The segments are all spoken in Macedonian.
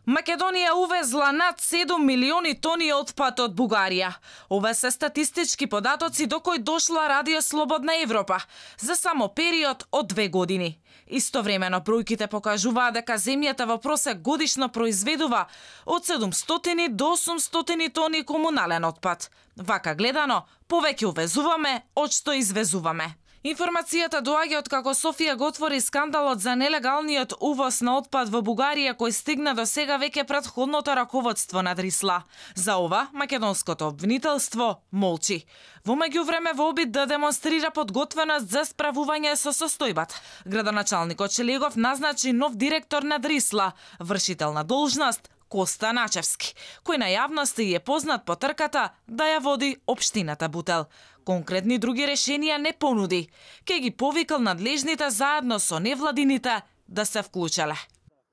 Македонија увезла над 7 милиони тони отпад од Бугарија. Ова се статистички податоци до кои дошла Радио Слободна Европа за само период од 2 години. Истовремено бројките покажуваат дека земјата во просек годишно произведува од 700 до 800 тони комунален отпад. Вака гледано, повеќе увезуваме од што извезуваме. Информацијата доаѓа од како Софија го отвори скандалот за нелегалниот увоз на отпад во Бугарија кој стигна до сега веќе претходното раководство на Дрисла. За ова македонското обвинителство молчи. Во меѓувреме во обид да демонстрира подготвеност за справување со состојбата, градоначалникот Шелегов назначи нов директор на Дрисла, вршител на должност Коста Начевски, кој на јавноста е познат по трката да ја води општината Бутел. Конкретни други решенија не понуди. Ке ги повикал надлежните заедно со невладините да се вклучеле.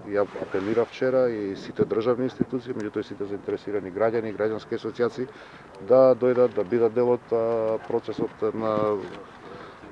Ја апелирав вчера и сите државни институции, меѓу тој сите заинтересирани граѓани и граѓански асоциации да дојдат да бидат дел од процесот на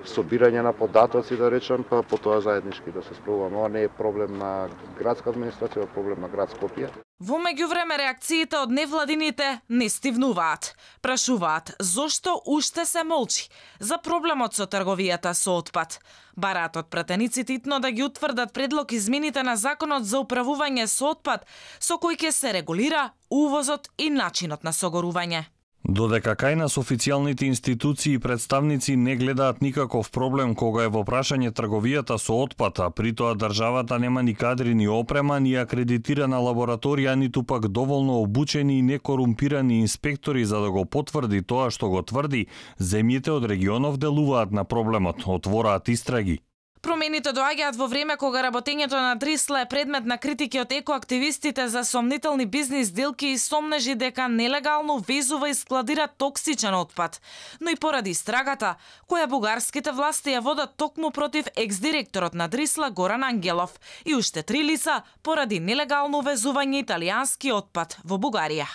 собирање на податоци, да речам, па потоа заеднички да се справуваме. Ова не е проблем на градска администрација, е проблем на град Скопје. Во меѓувреме реакциите од невладините не стивнуваат. Прашуваат зошто уште се молчи за проблемот со трговијата со отпад. Бараат од пратениците итно да ги утврдат предлог измените на законот за управување со отпад со кој ќе се регулира увозот и начинот на согорување. Додека кај нас официјалните институции и представници не гледаат никаков проблем кога е во прашање трговијата со отпад, а при тоа државата нема ни кадри, ни опрема, ни акредитирана лабораторија, ниту пак доволно обучени и некорумпирани инспектори за да го потврди тоа што го тврди, земјите од регионов делуваат на проблемот, отвораат истраги. Промените доаѓаат во време кога работењето на Дрисла е предмет на критики од екоактивистите за сомнителни бизнис делки и сомнежи дека нелегално везува и складира токсичен отпад, но и поради истрагата која бугарските власти ја водат токму против екс-директорот на Дрисла Горан Ангелов и уште 3 лица поради нелегално везување италијански отпад во Бугарија.